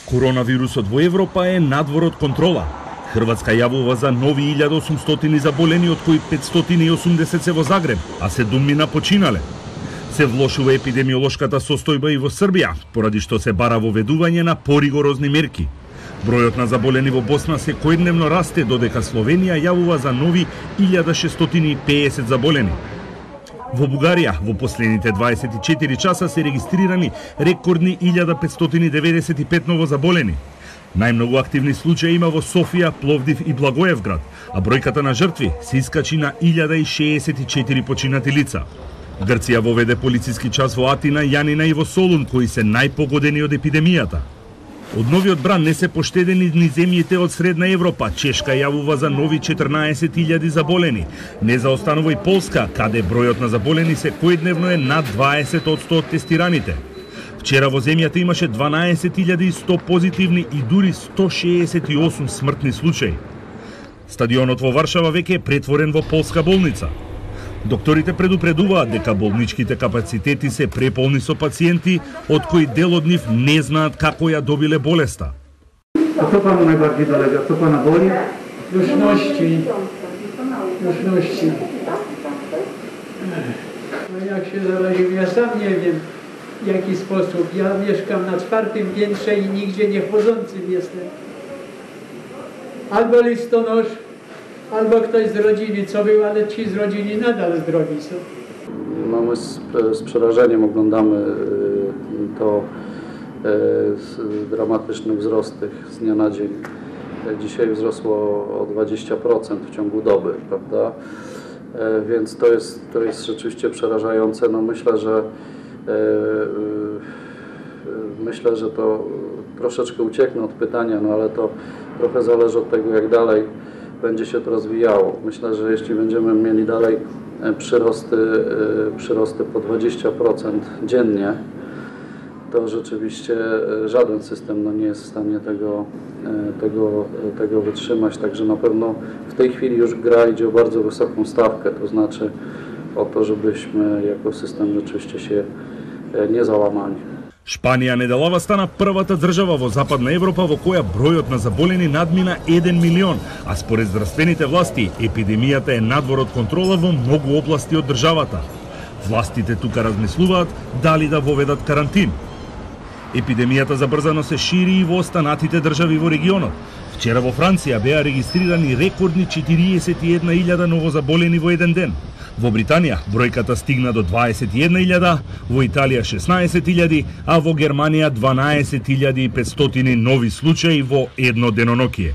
Коронавирусот во Европа е надвор од контрола. Хрватска јавува за нови 1800 заболени, од кои 580 се во Загреб, а 7 починале. Се влошува епидемиолошката состојба и во Србија, поради што се бара воведување на поригорозни мерки. Бројот на заболени во Босна секојдневно расте, додека Словенија јавува за нови 1650 заболени. Во Бугарија во последните 24 часа се регистрирани рекордни 1595 новозаболени. Најмногу активни случаи има во Софија, Пловдив и Благоевград, а бројката на жртви се искачи на 1064 починати лица. Грција воведе полициски час во Атина, Јанина и во Солун, кои се најпогодени од епидемијата. Од новиот бран не се поштедени ни земјите од Средна Европа. Чешка јавува за нови 14.000 заболени. Не заостанува и Полска, каде бројот на заболени секојдневно е над 20% од тестираните. Вчера во земјата имаше 12.100 позитивни и дури 168 смртни случаи. Стадионот во Варшава веќе е претворен во полска болница. Докторите предупредуваат дека болничките капацитети се преполни со пациенти, од кои дел од нив не знаат како ја добиле болеста. A co panu najbardziej dolega? Co pana boli? Duszności. No jak się zaraził, ja sam nie wiem w jaki sposób. Ja mieszkam na 4. piętrze i nigdzie nie wchodzącym jestem. Albo listonosz, albo ktoś z rodziny, co był, ale ci z rodziny nadal zdrowi są. No my z przerażeniem oglądamy dramatyczny wzrost tych z dnia na dzień. Dzisiaj wzrosło o 20% w ciągu doby, prawda? Więc to jest rzeczywiście przerażające. No myślę, że to troszeczkę ucieknę od pytania, no ale to trochę zależy od tego, jak dalej będzie się to rozwijało. Myślę, że jeśli będziemy mieli dalej przyrosty po 20% dziennie, to rzeczywiście żaden system nie jest w stanie tego wytrzymać. Także na pewno w tej chwili już gra idzie o bardzo wysoką stawkę, to znaczy o to, żebyśmy jako system rzeczywiście się nie załamali. Шпанија неделава стана првата држава во Западна Европа во која бројот на заболени надмина 1 милион, а според здравствените власти епидемијата е надвор од контрола во многу области од државата. Властите тука размислуваат дали да воведат карантин. Епидемијата забрзано се шири и во останатите држави во регионот. Вчера во Франција беа регистрирани рекордни 41.000 новозаболени во еден ден. Во Британија бројката стигна до 21.000, во Италија 16.000, а во Германија 12.500 нови случаи во едно деноноќие.